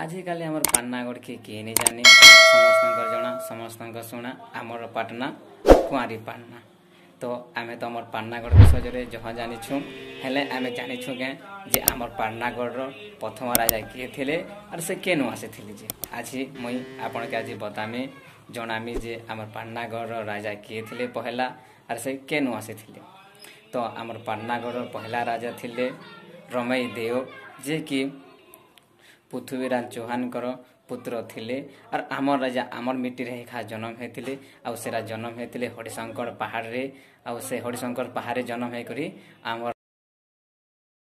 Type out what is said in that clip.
ଆଜିକାଲି ଆମର ପାଟନାଗଡ଼କେ କିଏ ନି ଜାନି? ସମସ୍ତଙ୍କର ଜଣା, ସମସ୍ତଙ୍କ ଶୁଣା, ଆମର ପାଟନା କୁଆଁରୀ ପାଟନା। ତ ଆମେ ତ ଆମର ପାଟନାଗଡ଼ ବିଷୟରେ ଜହ ଜାଣିଛୁଁ, ହେଲେ ଆମେ ଜାଣିଛୁଁ କେଁ ଯେ ଆମର ପାଟନାଗଡ଼ର ପ୍ରଥମ ରାଜା କିଏ ଥିଲେ ଆର୍ ସେ କେନୁ ଆସିଥିଲେ? ଯେ ଆଜି ମୁଇଁ ଆପଣକେ ଆଜି ବତାମି, ଜଣାମି ଯେ ଆମର ପାଟନାଗଡ଼ର ରାଜା କିଏ ଥିଲେ ପହେଲା ଆର୍ ସେ କେନୁ ଆସିଥିଲେ। ତ ଆମର ପାଟନାଗଡ଼ର ପହେଲା ରାଜା ଥିଲେ ରମେଇ ଦେଓ, ଯେ କି ପୃଥ୍ୱୀରାଜ ଚୌହାନଙ୍କର ପୁତ୍ର ଥିଲେ। ଆର୍ ଆମର୍ ରାଜା ଆମର୍ ମିଟିରେ ଏକା ଜନମ ହେଇଥିଲେ, ଆଉ ସେଟା ଜନମ ହେଇଥିଲେ ହରିଶଙ୍କର ପାହାଡ଼ରେ। ଆଉ ସେ ହରିଶଙ୍କର ପାହାଡ଼ରେ ଜନମ ହେଇକରି ଆମର